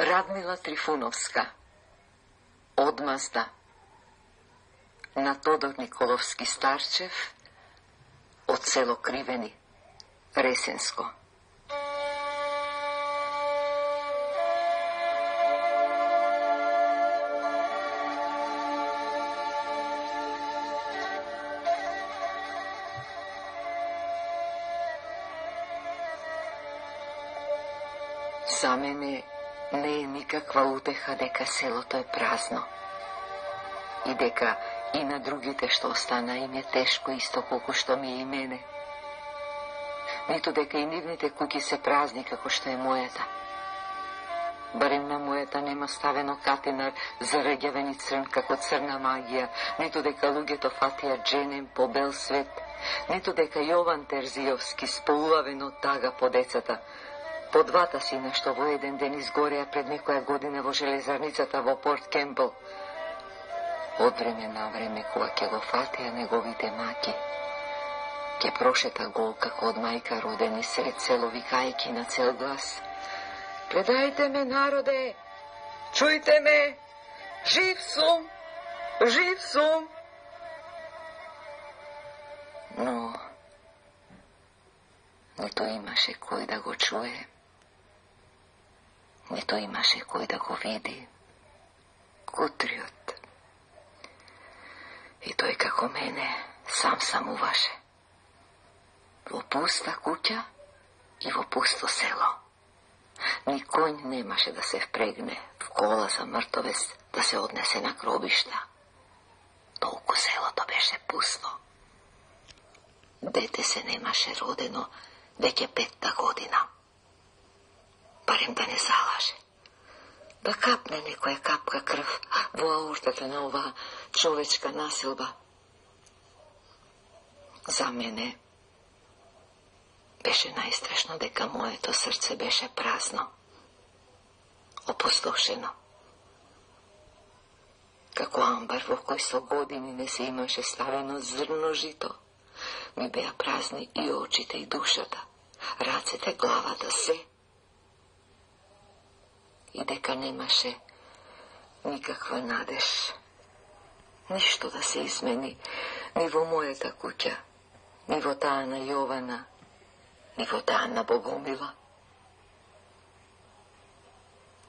Радмила Трифуновска, Одмазда, на Тодор Николовски Старчев, од село Кривени, Ресенско. За мене не е никаква утеха дека селото е празно и дека и на другите што остана им е тешко исто колку што ми е и мене. Ниту дека и нивните куќи се празни како што е мојата. Барем на мојата нема ставено катинар зарегјавен и црн како црна магија, ниту дека луѓето фатија дженем по бел свет, ниту дека Јован Терзијовски сполувавен од тага по децата, по двата сина што во еден ден изгореа пред некоја година во железарницата во Порт Кемпл. Од време на време, кога ќе го фатеа неговите маки, ќе прошета гол како од мајка родени сред село викајки на цел глас: "Гледајте ме, народе! Чујте ме! Жив сум! Жив сум!" Но нито имаше кој да го чуе, нито имаше кој да го види. Кутриот. И тој како мене сам самуваше. Во пуста куќа и во пусто село. Ни конј немаше да се впрегне в кола за мртовец да се однесе на гробишта. Толку селото беше пусто. Дете се немаше родено веќе 5-та година. Барем да не залаже. Да капне некоја капка крв во аортата на оваа човечка насилба. За мене беше најстрашно дека моето срце беше празно, опустошено. Како амбар во кој со години не се имаше ставено зрно жито, ми беа празни и очите и душата, рацете, главата, се. И дека немаше никаква надеж, ништо да се измени, ни во мојата куќа, ни во таа на Јована, ни во таа на Богомила.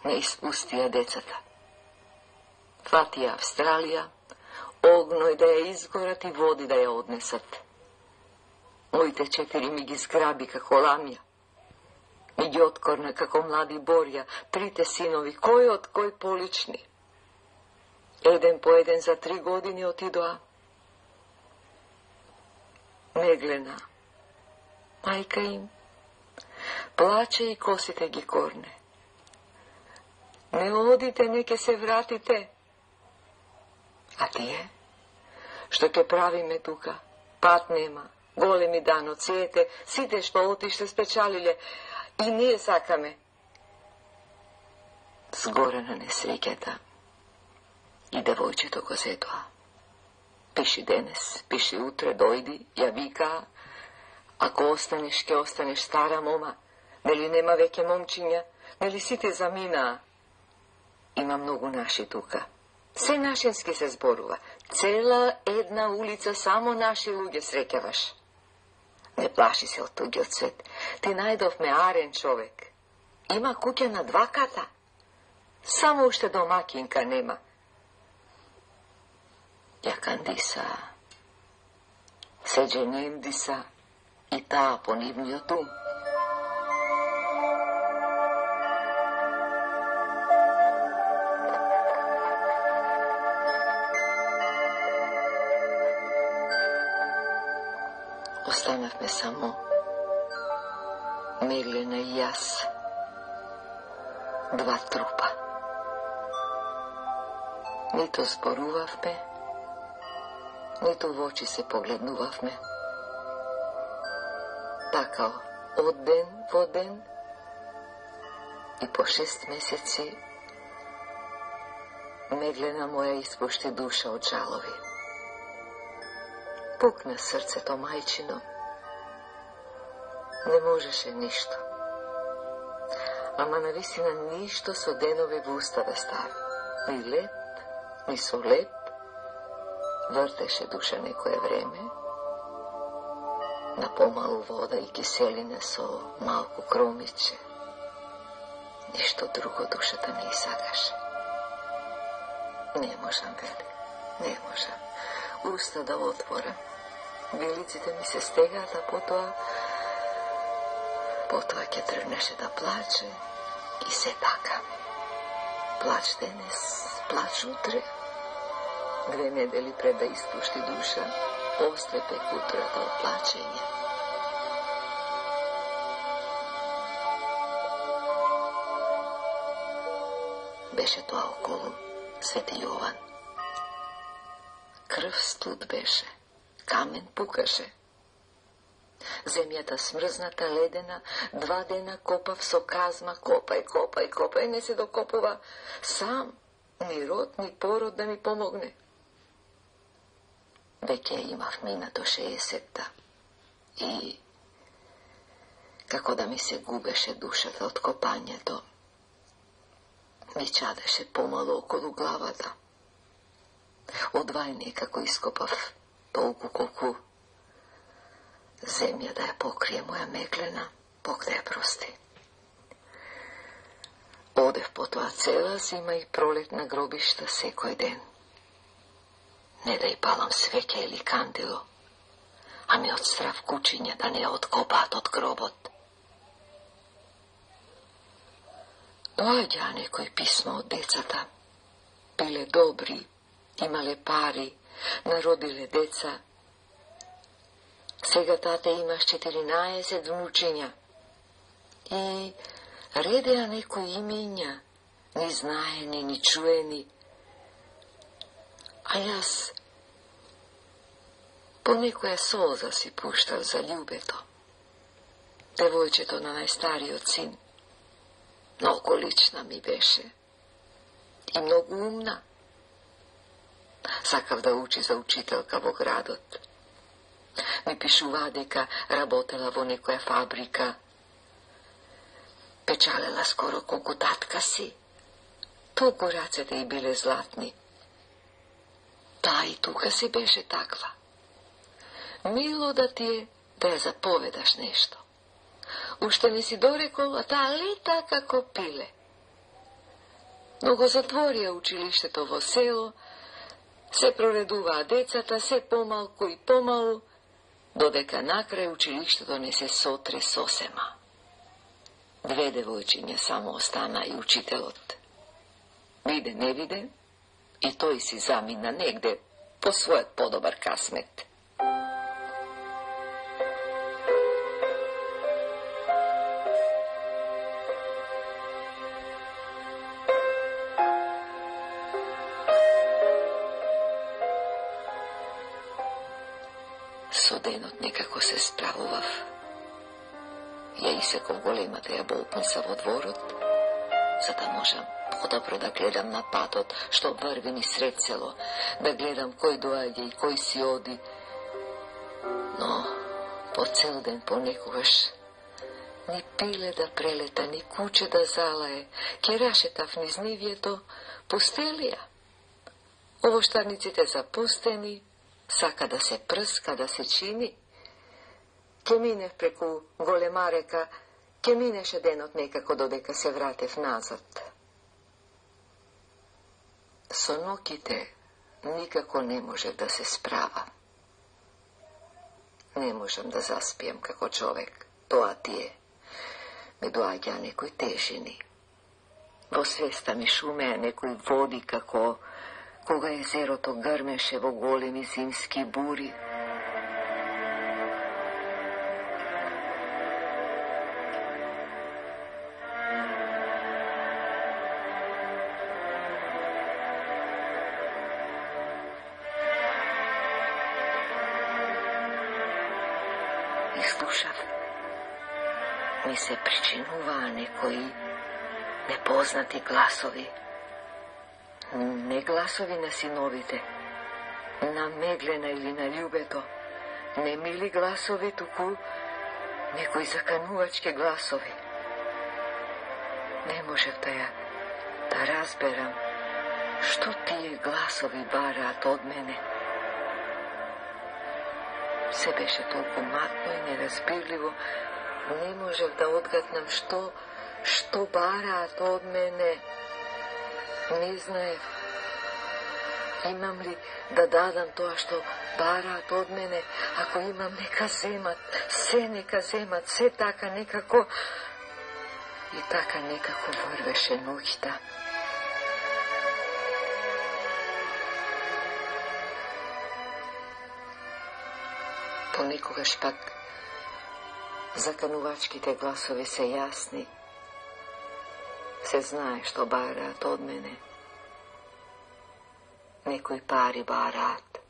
Не испустија децата. Фатија Австралија, огној да ја изгорат и води да ја однесат. Моите 4 ми ги зграби како ламја. Ми ги откорна како млади борја, 3 синови, кој од кој полични. Еден по еден за 3 години отидоа. Меглена, мајка им, плаче и косите ги корне. Не одите, не ке се вратите. А тие, што ќе правиме тука? Пат нема, големи даноците, сите што отиште спечалиле, и ние сакаме. Сгоре на несреќата и девојчето го зедоа. Пиши денес, пиши утре, дојди, ја викаа. Ако останеш, ке останеш стара мома. Нели нема веќе момчиња? Нели сите заминаа? Има многу наши тука. Се нашински се зборува. Цела една улица само наши луѓе среќаваш. Не плаши се од туѓиот свет. Ти најдовме арен човек. Има куќа на 2 ката. Само уште домакинка нема. Ја кандиса, се дженем диса, и таа по нивниот ум. Останавме само Меглена и јас, 2 трупа. Нито зборувавме, нито во очи се погледнувавме. Така, од ден во ден и по 6 месеци Меглена моја испушти душа од жалови. Пукна срцето мајчино. Не можеше ништо. ама навистина ништо со денове во уста да стави. Ни лед, ни со лед. Вртеше душа некое време, на помалу вода и киселина со малку кромиче. Ништо друго душата не сакаше. Не можам, вели, не можам. Уста да отворам. Вилиците ми се стегаат, а потоа ќе тргнеше да плаче и се така. Плач денес, плач утре. 2 недели пред да испушти душа, острепе кутрата од плачење. Беше тоа околу Свети Јован. Крв студ беше, камен пукаше. Земјата смрзната, ледена, 2 дена копав со казма, копај, не се докопува. Сам, ни род, ни пород да ми помогне. Веќе имав минато 60-та и како да ми се губеше душата од копањето, ми чадеше помало околу главата. Одвај некако ископав толку колку земја да ја покрие моја меглена, Бог да ја прости. Одев потоа цела зима и пролет на гробишта секој ден. Не да ја палам свеќе или кандело, ами од страв кучиња да не ја откопаат од гробот. Доаѓа некој писмо од децата. Биле добри, имале пари, народиле деца. Сега тате имаш 14 внучиња. И редеа некои имиња, ни знаени, ни чуени. А јас по некоја солза си пуштав за љубето. Девојчето на најстариот син. Многу лична ми беше. И многу умна. Сакав да учи за учителка во градот. Ми пишува дека работела во некоја фабрика. Печалела скоро колку татка си. Толку рацете и биле златни. Таа и тука си беше таква. Мило да ти е да ја заповедаш нешто. Уште не си дорекол, а таа лета како пиле. Но го затворија училиштето во село, се проредуваа децата, се помалку и помалу, додека накрај училиштето не се сотре сосема. 2 девојчиња само остана и учителот. Виде, не виде, и тој си замина негде по својот подобар касмет. Со денот некако се справував. Ја исеков големата јаболпница во дворот, за да можам подобро да гледам на патот што врви ни сред село, да гледам кој доаѓа и кој си оди. Но по цел ден понекогаш ни пиле да прелета, ни куче да залае, ке рашетав низ нивјето, пустелија. Овоштарниците запустени, сака да се прска, да се чини. Ке минев преку голема река, ке минеше денот некако додека се вратев назад. Со ноќите никако не можев да се справам. Не можам да заспием како човек, тоа ти е. Ме доаѓа некои тежини. Во свеста ми шумеа некои води како кога езерото грмеше во големи зимски бури. И слушав, ми се причинуваа некои непознати гласови. Не гласови на синовите, на Меглена или на љубето, не мили гласови, туку некои заканувачки гласови. Не можев да разберам што тие гласови бараат од мене. Се беше толку матно и неразбирливо, не можев да одгатнам што бараат од мене. Не знаев, имам ли да дадам тоа што бараат од мене. Ако имам, нека земат, се така некако. И така некако врвеше ноќта. Понекогаш пак заканувачките гласови се јасни. Се знае што бараат од мене. Некои пари бараат,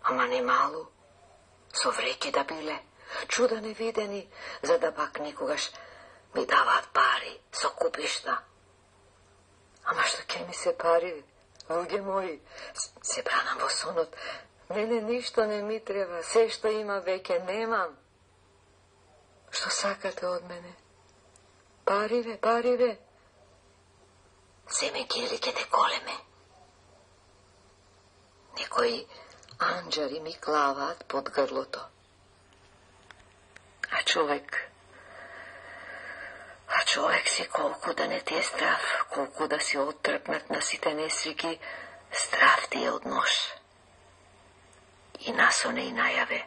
ама не малу, со вреќи да биле, чуда невидени, за да пак некогаш ми даваат пари со купишта. Ама што ќе ми се пари, луѓе мои, се бранам во сонот, мене ништо не ми треба, се што има веќе немам. Што сакате од мене? Париве. Земе ги или ќе те колеме. Некои анџари ми клаваат под грлото. А човек си колку да не ти е здрав, колку да си оттрпнат на сите несвики, здрав ти е од нож. И насоне и најаве.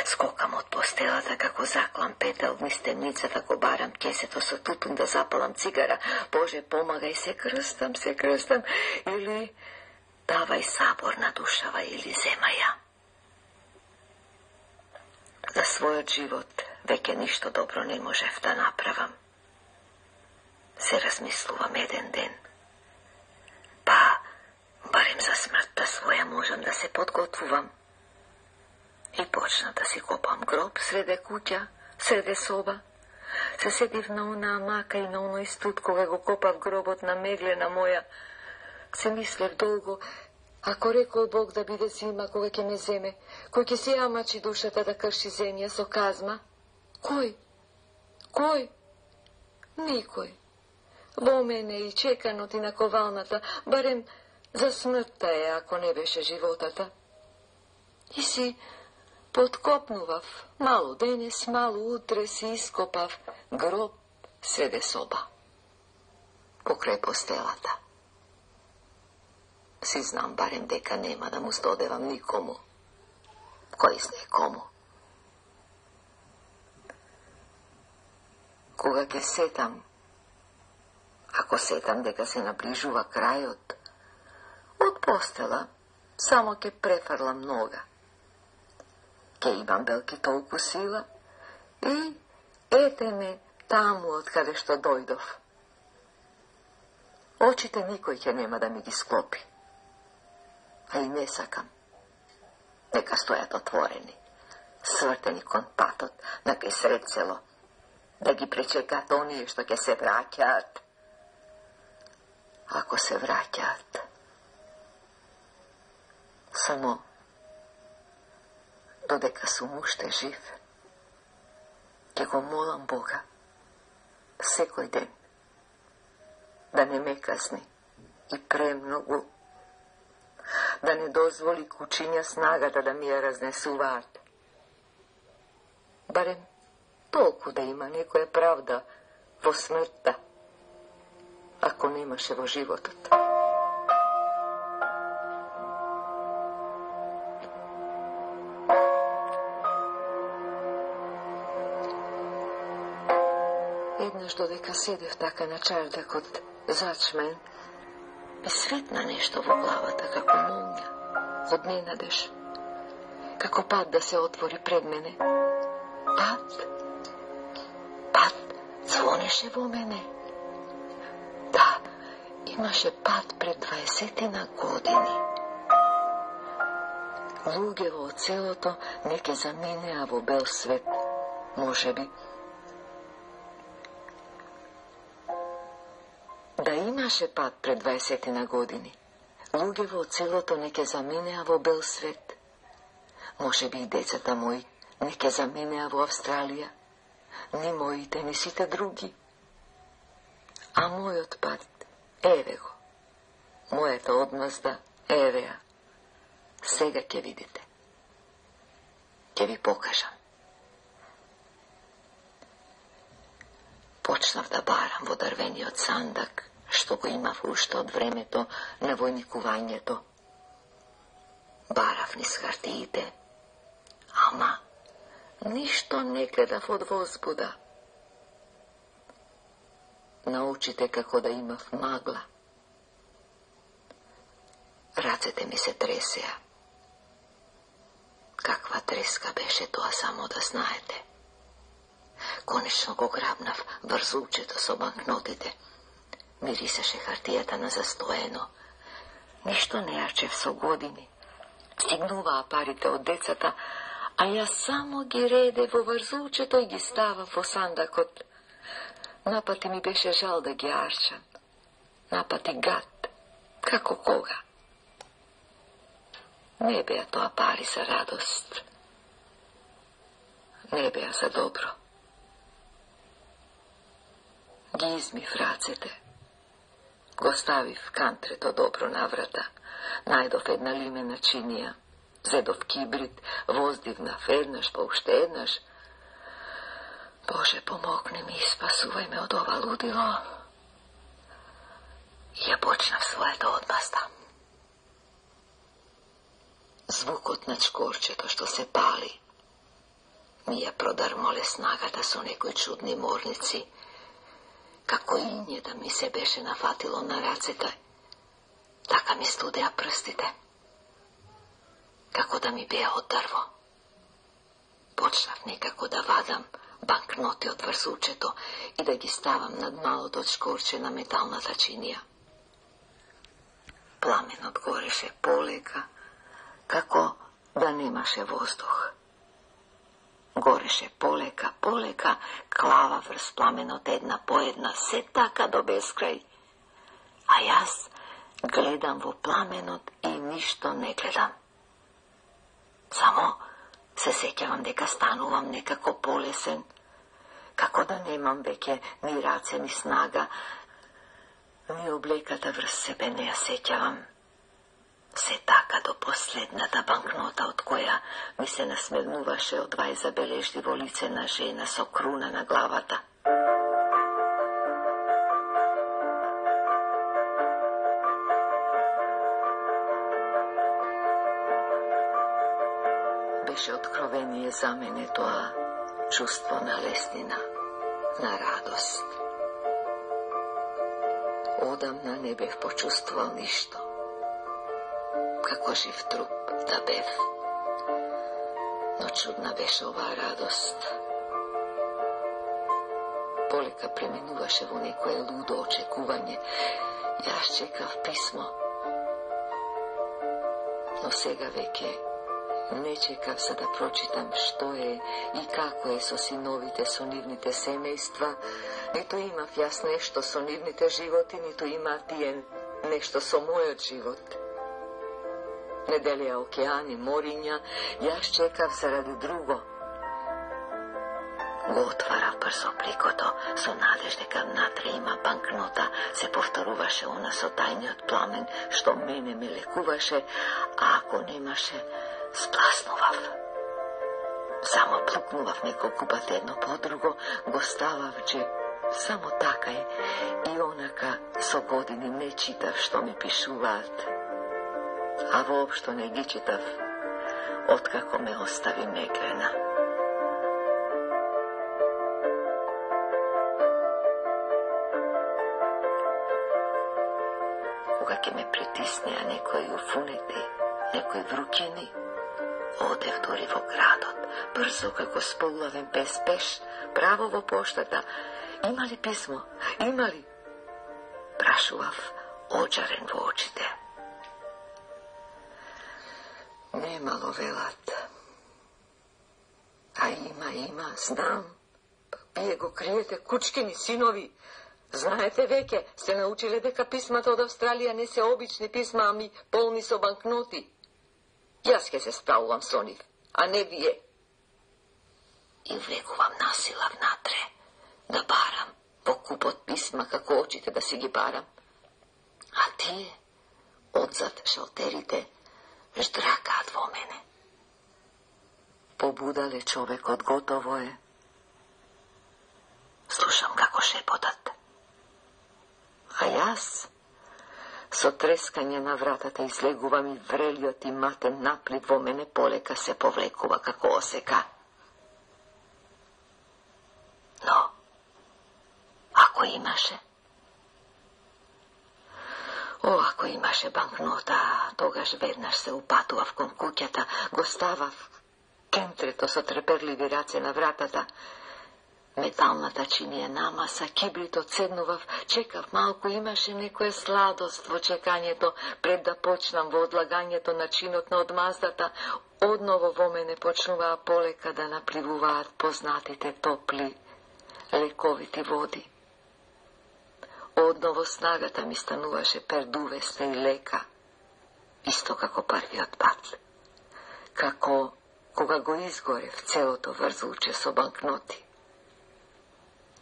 Скокам од постелата како заклам петел низ темницата, го барам кесето со тутун да запалам цигара. Боже, помагај, се крстам, или давај сабор на душава, или земај ја. За својот живот веќе ништо добро не можев да направам. Се размислувам еден ден. Па, барем за смртта своја можам да се подготвувам. И почна да си копам гроб среде куќа, среде соба. Се сетив на онаа мака и на оној студ кога го копав гробот на Меглена моја. Се мислев долго, ако рекол Бог да биде зима кога ќе ме земе, кој ќе се јамачи душата да крши земја со казма? Кој? Никој. Во мене и чеканот и на ковалната, барем за смртта е, ако не беше животата. И си подкопнував, мало денес, мало утре си ископав гроб среде соба, покрај постелата. Си знам барем дека нема да му здодевам никому. Кој знае кому? Кога ќе сетам, ако сетам дека се наближува крајот, од постела само ќе префрлам нога. Ке имам белки толку сила и ете ме таму од каде што дојдов. Очите никој ќе нема да ми ги склопи. А и не сакам. Нека стојат отворени, свртени кон патот на кај сред село, да ги пречекат оние што ќе се враќаат. Ако се враќаат, само додека сум уште жив, ќе го молам Бога секој ден да не ме казни и премногу, да не дозволи кучиња снагата да ми ја разнесуваат. Барем толку да има некоја правда во смртта, ако немаше во животот. Еднаш додека седев така на чардакот зачмен, ми светна нешто во главата како молња, од ненадеж, како пат да се отвори пред мене. Пат звонеше во мене. Да, имаше пат пред 20 години. Луѓето од селото не ке заминеа во бел свет, можеби. Да имаше пат пред 20 години. Луѓето од селото не ке заминеа во бел свет. Можеби и децата мои не ке заминеа во Австралија. Ни моите, ни сите други. А мојот пат, еве го. Мојата одмазда, еве ја. Сега ќе видите. Ќе ви покажам. Почнав да барам во дрвениот сандак, што го имав уште од времето на војникувањето. Барав низ хартиите, ама ништо не гледав од возбуда. На очите како да имав магла. Рацете ми се тресеа. Каква треска беше тоа, само да знаете. Конечно го грабнав врзулчето со банкнотите. Мирисаше хартијата на застоено. Ништо не јачев со години. Стигнуваа парите од децата, а јас само ги реде во врзулчето и ги ставав во сандакот. Напати ми беше жал да ги арчам. Напати гад, како кога. Не беа тоа пари за радост. Не беа за добро. Ги измив рацете. Го ставив кантрето добро на врата. Најдов една лимена чинија. Зедов кибрид, воздигнав еднаш, па уште еднаш. Боже, помогни ми и спасувај ме од ова лудило. И ја почнав својата одмазда. Звукот на чкорчето што се пали ми ја продармоле снагата со некои чудни морници, како иње да ми се беше нафатило на рацете, така ми студеа прстите, како да ми беа од дрво. Почнав некако да вадам банкноти од врзулчето и да ги ставам над малото чкорче на металната чинија. Пламенот гореше полека, како да немаше воздух. Гореше полека, полека, клава врз пламенот една по една, се така до безкрај. А јас гледам во пламенот и ништо не гледам. Само се сеќавам дека станувам некако полесен, како да немам веќе ни раце, ни снага, ни облеката врз себе не ја сеќавам. Се така до последната банкнота, од која ми се насмевнуваше од двај забележливо лице на жена со круна на главата. Беше откровение за мене тоа чувство на леснина, на радост. Одамна не бев почувствувал ништо. Како жив труп да бев. Но чудна беше оваа радост. Полека преминуваше во некое лудо очекување. Јас чекав писмо. Но сега веќе не чекав за да прочитам што е и како е со синовите, со нивните семејства. Ниту имав јас нешто со нивните животи, ниту има тие нешто со мојот живот. Не делеа океани, мориња, јас чекав заради друго. Го отвара брзо пликото, со надеж дека внатре има банкнота, се повторуваше она со тајниот пламен, што мене ме лекуваше, а ако немаше, спласнував. Само плукнував неколку пати едно по друго, го ставав джеб. Само така е. И онака со години не читав што ми пишуваат. А воопшто не ги читав, откако ме остави Меглена. Кога ќе ме притиснеа некои уфунети, некои врукени, одев дури во градот, брзо како сполавен без пеш, право во поштата. Има ли писмо? Има ли? Прашував, оџарен во очите. Немало велат. А има, знам. Вие го криете, кучкини синови. Знаете веќе, сте научиле дека писмата од Австралија не се обични писма, ами полни со банкноти. Јас ќе се справувам со нив, а не вие. И влегувам насила внатре, да барам, во купот писма како очите да си ги барам. А тие, одзад шалтерите, ждракаат во мене. Побудале човекот, готово е. Слушам како шепотат. А јас, со трескање на вратата излегувам и врелиот и матен наплив во мене полека се повлекува како осека. Но, ако имаше... ако имаше банкнота, тогаш веднаш се упатував кон куќата, го ставав кентрето со треперливи раце на вратата. Металната чинија намаса, кибритот седнував, чекав малку, имаше некоја сладост во чекањето, пред да почнам во одлагањето на чинот на одмаздата. Одново во мене почнуваа полека да напливуваат познатите топли, лековити води. Одново снагата ми стануваше пердувеста и лека, исто како првиот пат. Како кога го изгорев целото врзуче со банкноти.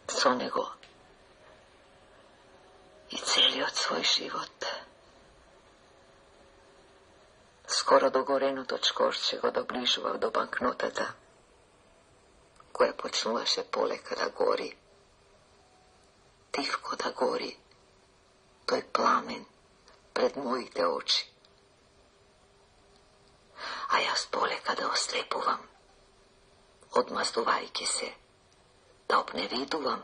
Со него и целиот свој живот. Скоро догореното чкорче го доближував до банкнотата, која почнуваше полека да гори. Тивко да гори тој пламен пред моите очи. А јас полека да ослепувам, одмаздувајќи се, да обневидувам,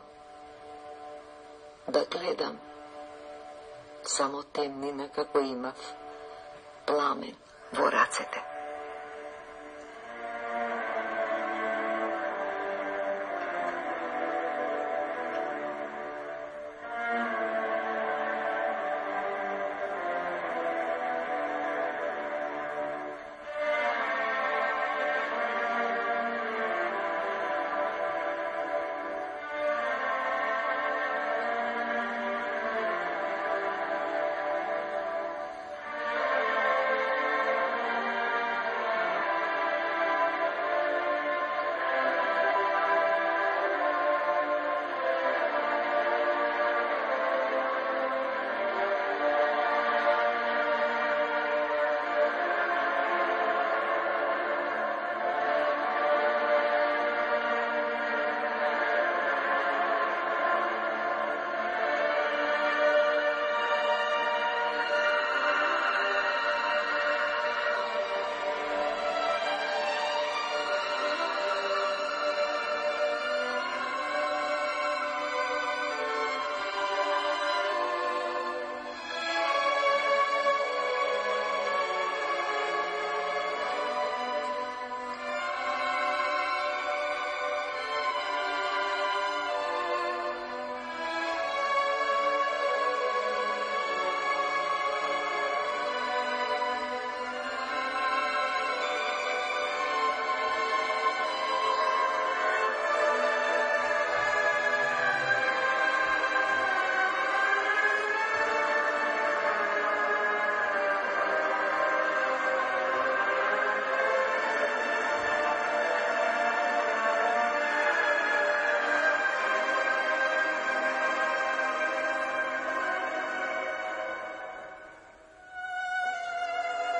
да гледам само темнина како имав, пламен во рацете.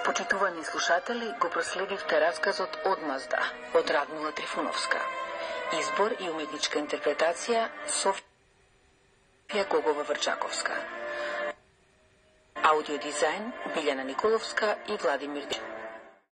Почитувани слушатели, го проследивте расказот Одмазда од Радмила Трифуновска. Избор и уметничка интерпретација Софија Гогова-Врчаковска. Аудиодизајн Билјана Николовска и Владимир Дж.